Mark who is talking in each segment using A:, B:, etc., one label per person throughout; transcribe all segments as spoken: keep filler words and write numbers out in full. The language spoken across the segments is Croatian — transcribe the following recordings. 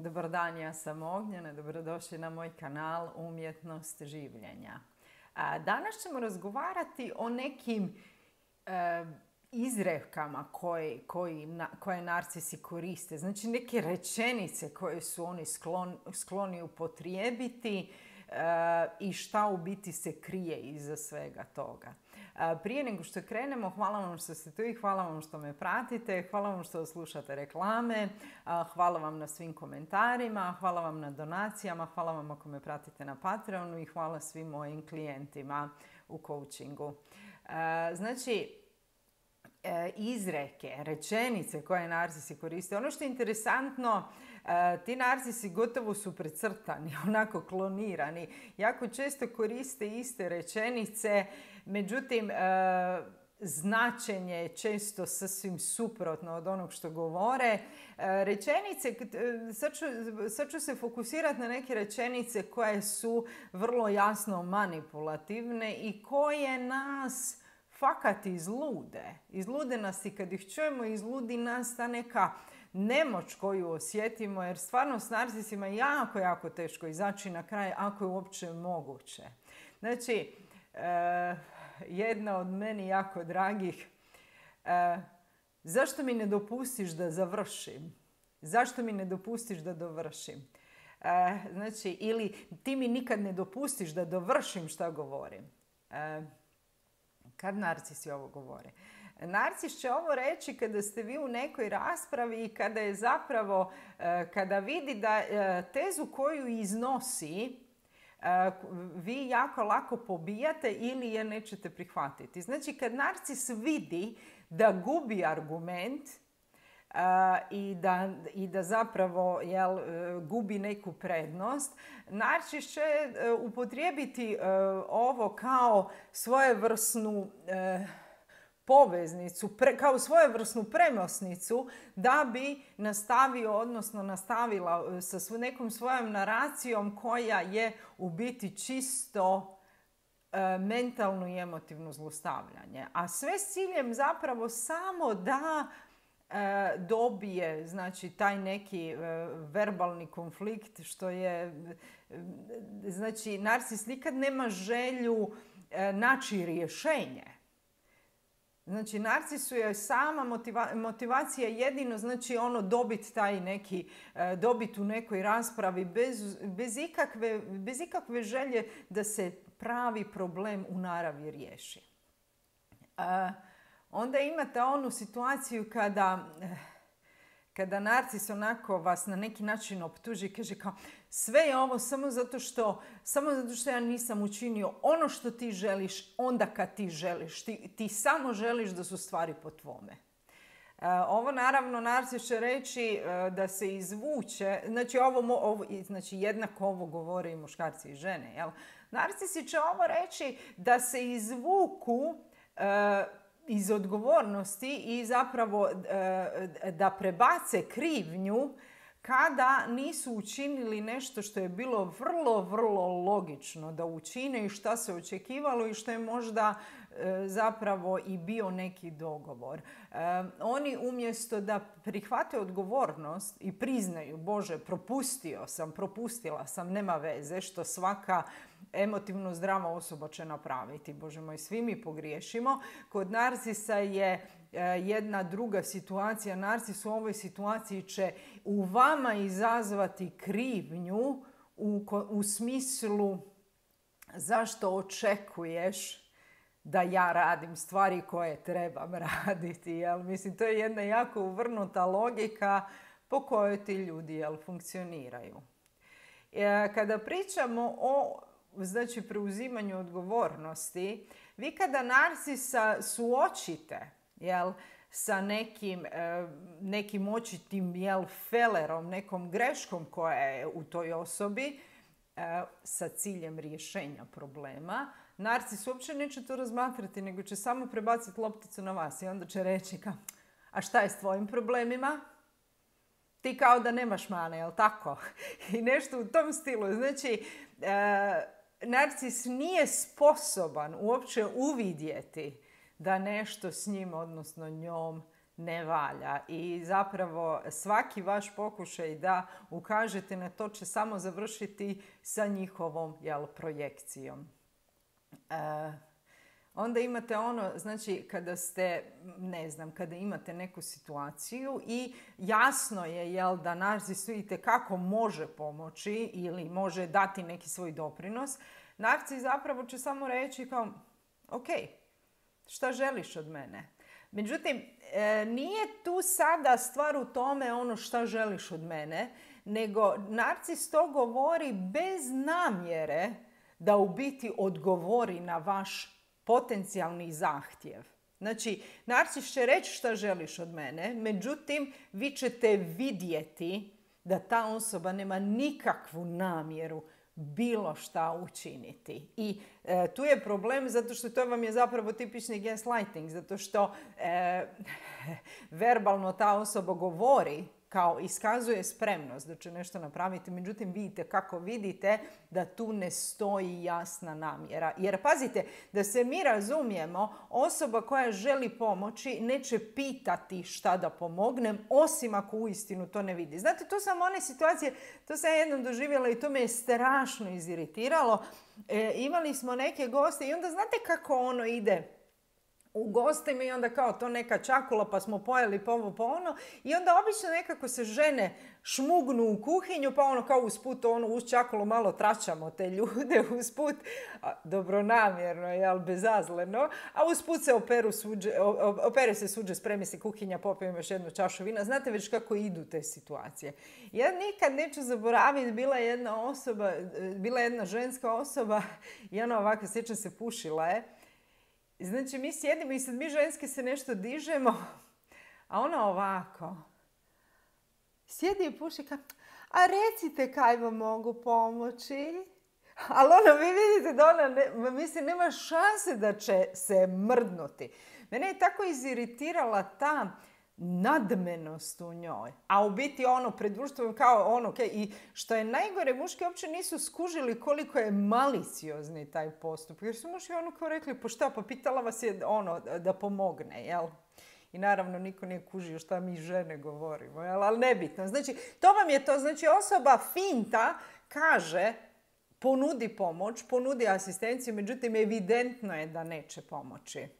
A: Dobar dan, ja sam Ognjena, dobrodošli na moj kanal Umjetnost življenja. Danas ćemo razgovarati o nekim e, izrekama koje, koji, na, koje narcisi koriste. Znači neke rečenice koje su oni sklon, skloni upotrijebiti e, i šta u biti se krije iza svega toga. Prije nego što krenemo, hvala vam što ste tu i hvala vam što me pratite, hvala vam što slušate reklame, hvala vam na svim komentarima, hvala vam na donacijama, hvala vam ako me pratite na Patreonu i hvala svim mojim klijentima u coachingu. Znači, izreke, rečenice koje narcisi koriste. Ono što je interesantno, ti narcisi gotovo su precrtani, onako klonirani. Jako često koriste iste rečenice, međutim, značenje je često sasvim suprotno od onog što govore. Rečenice, sad ću, sad ću se fokusirati na neke rečenice koje su vrlo jasno manipulativne i koje nas fakat izlude. Izlude nas i kad ih čujemo, izludi nas ta neka nemoć koju osjetimo, jer stvarno s narcisima je jako, jako teško izaći na kraj, ako je uopće moguće. Znači, e, jedna od meni jako dragih, e, zašto mi ne dopustiš da završim? Zašto mi ne dopustiš da dovršim? E, znači, ili ti mi nikad ne dopustiš da dovršim šta govorim. E, Kad narcisi ovo govore? Narcis će ovo reći kada ste vi u nekoj raspravi i kada je zapravo, kada vidi da tezu koju iznosi vi jako lako pobijate ili je nećete prihvatiti. Znači, kad narcis vidi da gubi argument Uh, i, da, i da zapravo jel, gubi neku prednost, narcis će uh, upotrijebiti uh, ovo kao svojevrsnu uh, poveznicu, pre, kao svojevrsnu premosnicu da bi nastavio, odnosno nastavila sa svo, nekom svojom naracijom koja je u biti čisto uh, mentalno i emotivno zlostavljanje. A sve s ciljem zapravo samo da dobije, znači, taj neki verbalni konflikt, što je, znači, narcis nikad nema želju naći rješenje. Znači, narcisu je sama motiva, motivacija jedino, znači, ono dobiti taj neki, dobiti u nekoj raspravi bez, bez, ikakve, bez ikakve želje da se pravi problem u naravi riješi. Onda imate onu situaciju kada, kada narcis onako vas na neki način optuži i kaže kao sve je ovo samo zato što, samo zato što ja nisam učinio ono što ti želiš onda kad ti želiš. Ti, ti samo želiš da su stvari po tvome. Ovo naravno narcis će reći da se izvuče, znači, ovo, ovo, znači jednako ovo govore i muškarci i žene. Jel? Narcisi će ovo reći da se izvuku iz odgovornosti i zapravo da prebace krivnju kada nisu učinili nešto što je bilo vrlo, vrlo logično da učine i što se očekivalo i što je možda zapravo i bio neki dogovor. Oni umjesto da prihvate odgovornost i priznaju, Bože, propustio sam, propustila sam, nema veze, što svaka emotivno zdrava osoba će napraviti. Bože moj, svi mi pogriješimo. Kod narcisa je jedna druga situacija. Narcis u ovoj situaciji će u vama izazvati krivnju u, u smislu zašto očekuješ da ja radim stvari koje trebam raditi. Jel? Mislim, to je jedna jako uvrnuta logika po kojoj ti ljudi jel, funkcioniraju. Kada pričamo o, znači, preuzimanju odgovornosti, vi kada narcisa suočite jel, sa nekim, nekim očitim jel, felerom, nekom greškom koja je u toj osobi, sa ciljem rješenja problema, narcis uopće neće to razmatrati, nego će samo prebaciti lopticu na vas i onda će reći kao, a šta je s tvojim problemima? Ti kao da nemaš mane, jel tako? I nešto u tom stilu. Znači, e, narcis nije sposoban uopće uvidjeti da nešto s njim, odnosno njom, ne valja. I zapravo svaki vaš pokušaj da ukažete na to će samo završiti sa njihovom, jel, projekcijom. E, Onda imate ono, znači kada ste, ne znam, kada imate neku situaciju i jasno je, jel, da narcisu itekako može pomoći ili može dati neki svoj doprinos, narcis zapravo će samo reći kao, ok, šta želiš od mene? Međutim, e, nije tu sada stvar u tome ono šta želiš od mene, nego narcis to govori bez namjere da u biti odgovori na vaš potencijalni zahtjev. Znači, narcis će reći šta želiš od mene, međutim, vi ćete vidjeti da ta osoba nema nikakvu namjeru bilo šta učiniti. I e, tu je problem zato što to vam je zapravo tipični gaslighting, zato što e, verbalno ta osoba govori, kao iskazuje spremnost da će nešto napraviti, međutim vidite kako vidite da tu ne stoji jasna namjera. Jer pazite, da se mi razumijemo, osoba koja želi pomoći neće pitati šta da pomognem, osim ako uistinu to ne vidi. Znate, to sam one situacije, to sam jednom doživjela i to me je strašno iziritiralo. E, imali smo neke goste i onda znate kako ono ide u gostima i onda kao to neka čakula pa smo pojeli po ovo po ono i onda obično nekako se žene šmugnu u kuhinju pa ono kao usput ono uz čakulu malo tračamo te ljude usput, dobronamjerno, jel, bezazleno, a usput se operu suđe, opere se suđe, spremi se kuhinja, popijem još jednu čašu vina. Znate već kako idu te situacije. Ja nikad neću zaboraviti, bila je jedna osoba, bila je jedna ženska osoba i ona ovako, sjećam se, pušila je. Znači, mi sjedimo i sad mi ženske se nešto dižemo, a ona ovako sjedi i puši kao, a recite kaj vam mogu pomoći? Ali ono, vi vidite da ona, ne, mislim, nema šanse da će se mrdnuti. Mene je tako iziritirala ta nadmenost u njoj. A u biti ono, pred društvom kao ono, okay, i što je najgore, muški uopće nisu skužili koliko je maliciozni taj postup. Jer su muški ono kao rekli, pa šta, pa pitala vas je ono da pomogne, jel? I naravno niko nije kužio šta mi žene govorimo, jel? Ali nebitno. Znači, to vam je to, znači osoba finta kaže, ponudi pomoć, ponudi asistenciju, međutim evidentno je da neće pomoći.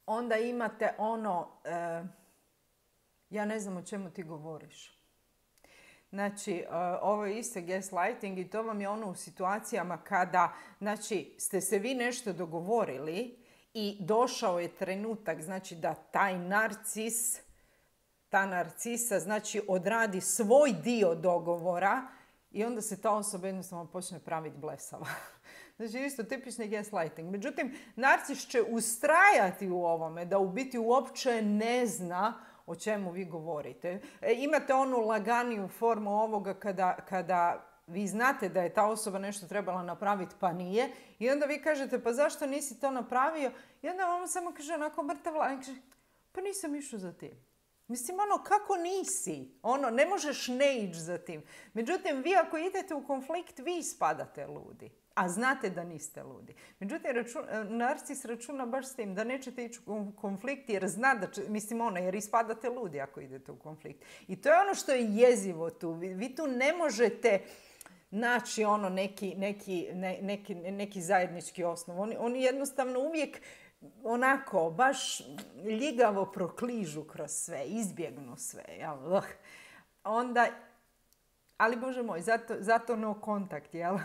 A: Onda imate ono, e, ja ne znam o čemu ti govoriš. Znači, e, ovo je isto gaslighting i to vam je ono u situacijama kada, znači, ste se vi nešto dogovorili i došao je trenutak, znači, da taj narcis, ta narcisa, znači, odradi svoj dio dogovora i onda se ta osoba jednostavno počne praviti blesava. Znači, isto tipični gaslighting. Međutim, narcis će ustrajati u ovome, da u biti uopće ne zna o čemu vi govorite. E, imate onu laganiju formu ovoga kada, kada vi znate da je ta osoba nešto trebala napraviti pa nije i onda vi kažete pa zašto nisi to napravio i onda on samo kaže onako mrtav lagan, kaže pa nisam išao za tim. Mislim, ono, kako nisi? Ono, ne možeš ne ići za tim. Međutim, vi ako idete u konflikt, vi spadate ludi. A znate da niste ludi. Međutim, račun, narcis računa baš s tim da nećete ići u konflikt jer zna da će, mislim ono, jer ispadate ludi ako idete u konflikt. I to je ono što je jezivo tu. Vi, vi tu ne možete naći ono neki, neki, ne, neki, neki zajednički osnov. Oni, oni jednostavno uvijek onako, baš ljigavo prokližu kroz sve, izbjegnu sve. Jel? Onda, ali Bože moj, zato, zato no kontakt, jel?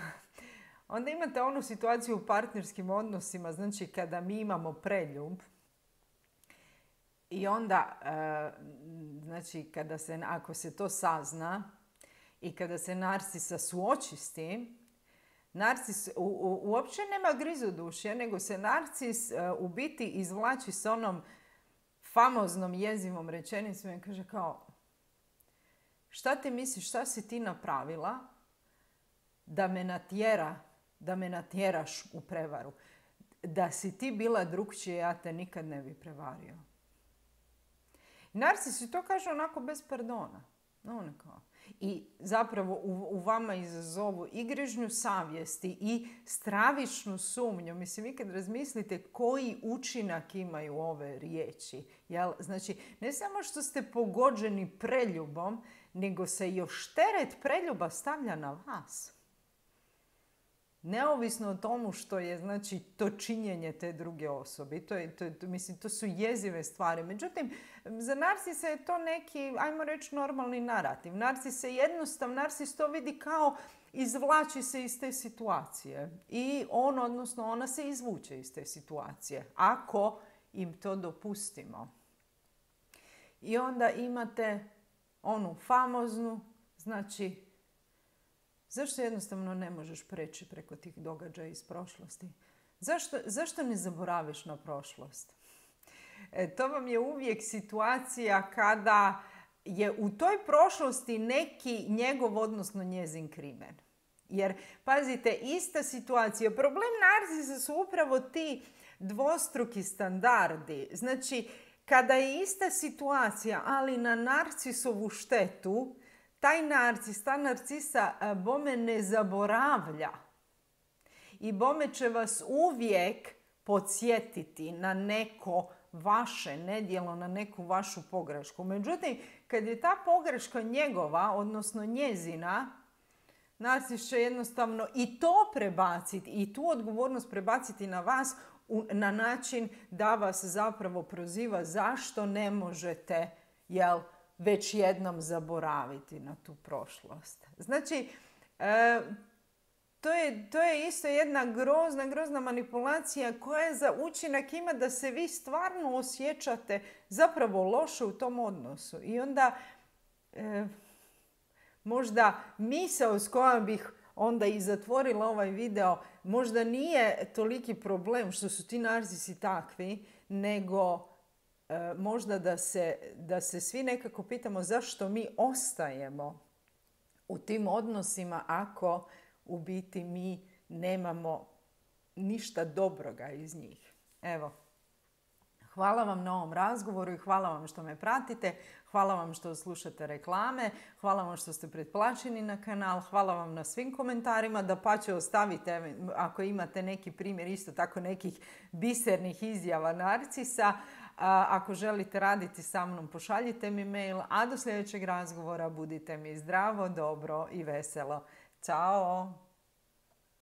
A: Onda imate onu situaciju u partnerskim odnosima, znači kada mi imamo preljub i onda, e, znači kada se, ako se to sazna i kada se narcisa suoči s tim, narcis u, u, uopće nema grizodušja, nego se narcis e, u biti izvlači s onom famoznom jezivom rečenicom i kaže kao, šta ti misliš, šta si ti napravila da me natjera da me natjeraš u prevaru. Da si ti bila drukčije, ja te nikad ne bi prevario. Narcisi to kaže onako bez pardona. No, kao. I zapravo u, u vama izazovu i grižnju savjesti i stravičnu sumnju. Mislim, vi kad razmislite koji učinak imaju ove riječi. Jel? Znači, ne samo što ste pogođeni preljubom, nego se još teret preljuba stavlja na vas. Neovisno o tomu što je, znači, to činjenje te druge osobe. To, je, to, to, mislim, to su jezive stvari. Međutim, za narcisa je to neki, ajmo reći, normalni narativ. Narcis se jednostavno, narcis to vidi kao izvlači se iz te situacije. I on, odnosno ona se izvuče iz te situacije. Ako im to dopustimo. I onda imate onu famoznu, znači, zašto jednostavno ne možeš preći preko tih događaja iz prošlosti? Zašto, zašto ne zaboraviš na prošlost? E, to vam je uvijek situacija kada je u toj prošlosti neki njegov, odnosno njezin krimen. Jer, pazite, ista situacija. Problem narcisa su upravo ti dvostruki standardi. Znači, kada je ista situacija, ali na narcisovu štetu, taj narcis, ta narcisa bome ne zaboravlja. I bome će vas uvijek podsjetiti na neko vaše nedjelo, na neku vašu pogrešku. Međutim, kad je ta pogreška njegova, odnosno njezina, narcis će jednostavno i to prebaciti, i tu odgovornost prebaciti na vas na način da vas zapravo proziva zašto ne možete, jel, već jednom zaboraviti na tu prošlost. Znači, e, to, je, to je isto jedna grozna, grozna manipulacija koja za učinak ima da se vi stvarno osjećate zapravo loše u tom odnosu. I onda e, možda misao s kojom bih onda i zatvorila ovaj video, možda nije toliki problem što su ti narcisi takvi, nego e, možda da se, da se svi nekako pitamo zašto mi ostajemo u tim odnosima ako u biti mi nemamo ništa dobroga iz njih. Evo. Hvala vam na ovom razgovoru i hvala vam što me pratite. Hvala vam što slušate reklame. Hvala vam što ste pretplaćeni na kanal. Hvala vam na svim komentarima. Dapače, ostavite ako imate neki primjer isto tako nekih bisernih izjava narcisa. Ako želite raditi sa mnom, pošaljite mi mail. A do sljedećeg razgovora budite mi zdravo, dobro i veselo. Ćao!